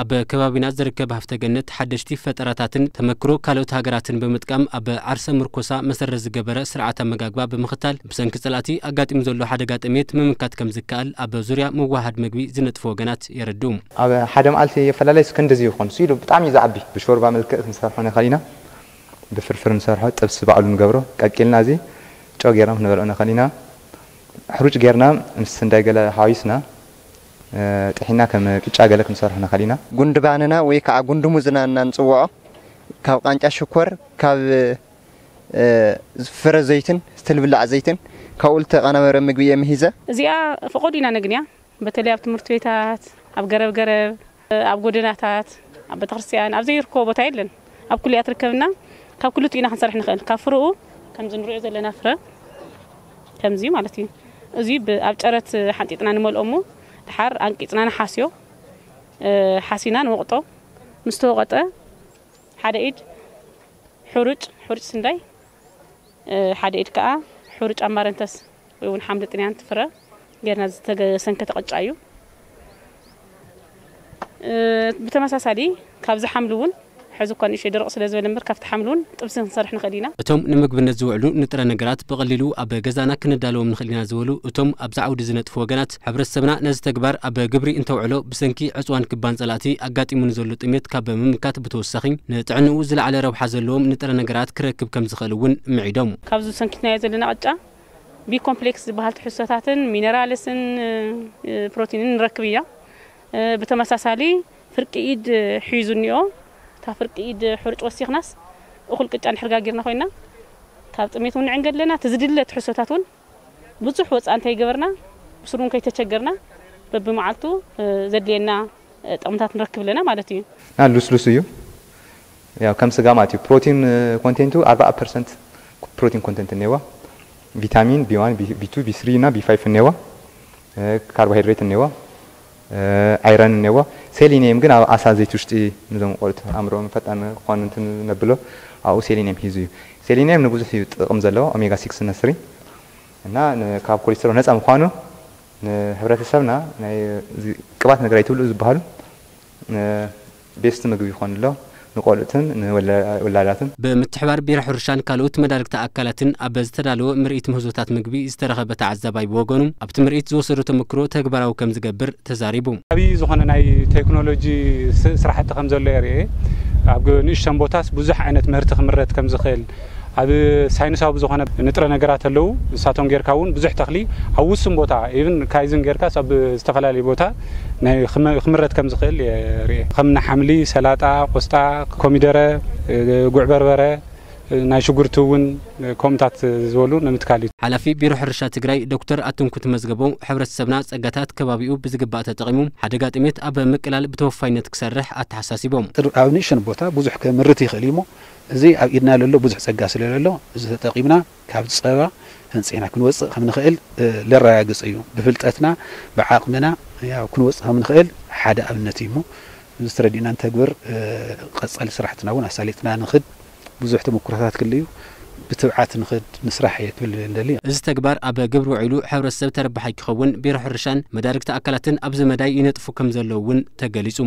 ኣብ ከባቢና ዝርከብ ሃፍተ ገነት ሓደሽቲ ፈጠራታትን ተመክሮ ካልኦት ሃገራትን ብምጥቃም ኣብ ዓርሰ ምርኮሳ መሰረት ዝገበረ ስርዓት ኣመጋግባ ብምኽታል ብሰንኪ ጸላእቲ ኣጋጢሙ ዘሎ ሓደጋ ጥሜት ምምካት ከም ዝከኣል ኣብ ዙርያ ምውሃድ ምግቢ ዝነጥፉ ወገናት የረድኡ። ኣብ ሓደ መዓልቲ ኣፈላላይ እስከ እንደዚ ይኾን፣ እሱ ኢሉ ብጣዕሚ እዩ ዝዓቢ። ብሾርባ መልክዕ ክንሰርሖ ንኽእል ኢና፣ ብፍርፍር ንሰርሖ፣ ጥብሲ ባዕሉ ንገብሮ፣ ቀቂልና እዚ ጨው ጌርና ክንበልዖ ንኽእል ኢና። ሕሩጭ ጌርና ምስ ስንዳይ ገለ ሓዊስና፣ እ፣ ጥሒና ከም ቅጫ ገለ ክንሰርሖ ንኽእል ኢና። ጉንዲ ባንና ወይ ከዓ ጉንዲ ሙዝና እና ንጽውዖ፣ ካብ ቃንጫ ሽኮር፣ ካብ፣ እ፣ ፍረ ዘይትን ዝተልብላዕ ዘይትን ካብኡ ዝተቐናበረ ምግቢ እየ ምሂዘ። እዚኣ ፈቐዱና ነግንያ፣ በተለይ ኣብ ትምህርቲ ቤታት፣ ኣብ ገረብ ገረብ፣ ኣብ ጎደናታት፣ ኣብ ቤተክርስትያን፣ ኣብ ዘይርከቦ ቦታ የለን። ኣብ ኩሉ እያ ትርከብና። ካብ ክልቲኡ ኢና ክንሰርሕ ንኽእል። ካብ ፍረኡ ከምዚ ንሪኦ ዘለና ፍረ፣ ከምዚ ማለት እዩ። እዚ ብ-፣ ኣብ ጨረት ሓንጢጥና ንመልኦ እሞ፣ ድሓር ኣንቂጽና ንሓስዮ። እ፣ ሓሲና ንወቕጦ። ምስ ተወቐጠ፣ ሓደ ኢድ ሕሩጭ፣ ሕሩጭ ስንዳይ፣ እ፣ ሓደ ኢድ ከኣ ሕሩጭ ኣማረንተስ ወይ እውን ሓምሊ ጥንያን ፍረ ጌርና ዝተሰንከተ ቅጫ እዩ። እ፣ ብተመሳሳሊ ካብዚ ሓምሊ እውን፣ ሕዚ እኳ ንእሽተይ ደረቕ ስለ ዝበለ እምበር፣ ካብቲ ሓምሊ እውን ጥብሲ ክንሰርሕ ንኽእል ኢና። እቶም ንምግብነት ዝውዕሉ ንጥረ ነገራት ብቐሊሉ ኣብ ገዛና ክነዳልዎም ንኽእል ኢና ዝበሉ እቶም ኣብዚ ዓውዲ ዝነጥፉ ወገናት፣ ሕብረተሰብና ነዚ ተግባር ኣብ ግብሪ እንተውዕሎ ብሰንኪ ዕጽዋን ክባን ጸላእቲ ኣጋጢሙ ንዘሎ ጥሜት ካብ ምምካት ብተወሳኺ ንጥዕንኡ ዝለዓለ ረብሓ ዘለዎም ንጥረ ነገራት ክረክብ ከም ዝኽእል እውን ምዒዶም። ካብዚ ሰንኪትናዮ ዘለና ቅጫ ቢ ኮምፕሌክስ ዝበሃል ትሕዝቶታትን ሚነራልስን፣ እ፣ ፕሮቲንን ንረክብ ኢና። እ፣ ብተመሳሳሊ ፍርቂ ኢድ ሒዙ እኒኦ፣ እታ ፍርቂ ኢድ ሕሩጭ ወሲኽናስ እኹል ቅጫ እንድሕር ጋጊርና ኮይና ካብ ጥሜት እውን ንዕንገ ኣለና። እቲ ዝድለ ትሕዝቶታት እውን ብዙሕ ወፃእ እንተይገበርና ብስሩ እውን ከይተቸገርና በብመዓልቱ፣ እ፣ ዘድልየና፣ እ፣ ጥቕምታት ንረክብ ኣለና ማለት እዩ። እና ልስሉስ እዩ። ያው ከም ስጋ ማለት እዩ። ፕሮቲን፣ እ፣ ኮንቴንቱ ኣርባዓ ፐርሰንት ፕሮቲን ኮንቴንት እኒአዋ። ቪታሚን ቢ ዋን፣ ቢ፣ ቢ ቱ፣ ቢ ስሪ እና ቢ ፋይቭ እኒአዋ። እ፣ ካርቦሃይድሬት እኒአዋ። እ፣ ኣይረን እኒአዋ። ሴሊኒየም ግን ኣብ ዓሳ፣ ዘይቲ ውሽጢ፣ ንዞም ቆልዑት ኣእምሮኦም ፈጣን ክኾን እንትን ነብሎ፣ ኣብኡ ሴሊኒየም ሒዙ እዩ። ሴሊኒየም ንብዙሕ እዩ ጥቕም ዘለዎ፣ ኦሜጋ ሲክስ እና ስሪ። እና ን-፣ ካብ ኮሌስትሮል ነፃ ምዃኑ ንሕብረተሰብና ናይ እዚ ቅባት ነገር ኣይትብልዑ ዝበሃሉ ን-፣ ቤስት ምግቢ ይኾን ኣሎ ንቆልዑትን ንወላ-፣ ወላዳትን። ብምትሕባር ቢሮ ሕርሻን ካልኦት መዳርግቲ ኣካላትን ኣብ ዝተዳለወ ምርኢት ምህዞታት ምግቢ ዝተረኸበ ተዓዛባይ ብወገኑ፣ ኣብቲ ምርኢት ዝወሰዶ ተመክሮ ተግባራዊ ከም ዝገብር ተዛሪቡ። ዓብዪ ዝኾነ ናይ ቴክኖሎጂ ስ-፣ ስራሕቲ ከም ዘሎ የርኢ። ኣብ ግ-፣ ንእሽተን ቦታስ ብዙሕ ዓይነት ምህርቲ ክምረት ከም ዝኽእል፣ ኣብ ሳይንሳዊ ብዝኾነ ንጥረ ነገራት ኣለዉ። ንሳቶም ጌርካ እውን ብዙሕ ተኽሊ ኣብ ውሱን ቦታ፣ ኢቭን ካይዝን ጌርካስ ኣብ ዝተፈላለዩ ቦታ ናይ ክመ-፣ ክምረት ከም ዝኽእል የርኢ። ከም ሓምሊ፣ ሰላጣ፣ ቆስጣ፣ ኮሚደረ፣ ጉዕ በርበረ፣ ናይ ሽጉርቲ እውን ከምኡታት ዝበሉ ንምትካል እዩ። ሓላፊ ቢሮ ሕርሻ ትግራይ ዶክተር ኣትንኩት መዝገቦም፣ ሕብረተሰብና ጸጋታት ከባቢኡ ብዝግባእ ተጠቒሙ ሓደጋ ጥሜት ኣብ ምቅላል ብተወፋይነት ክሰርሕ ኣተሓሳሲቦም። ኣብ ንእሽተን ቦታ ብዙሕ ከምርት ይኽእል እዩ እሞ፣ እዚ ኣብ ኢድና ለሎ ብዙሕ ጸጋ ስለ ለሎ፣ እዚ ተጠቒምና ካብ ጸባ ህንጺና ክንወጽእ ከም ንኽእል፣ እ፣ ለረጋግጽ እዩ። ብፍልጠትና፣ ብዓቕምና፣ ያው ክንወጽእ ከም ንኽእል ሓደ ኣብነት እዩ እሞ፣ እዚ ተረዲእና ንተግብር፣ እ፣ ቀጻሊ ስራሕትና እውን ኣሳሊጥና ንኽድ፣ ብዙሕ ተመኩሮታት ክህልዩ፣ ብትብዓት ንኽድ፣ ንስራሕ እየ ክብል እንደሊ። እዚ ተግባር ኣብ ግብሪ ውዒሉ ሕብረተሰብ ተረባሓይ ክኸውን ቢሮ ሕርሻን መዳርግቲ ኣካላትን ኣብዚ መዳይ ይነጥፉ ከም ዘለዉ እውን ተገሊጹ።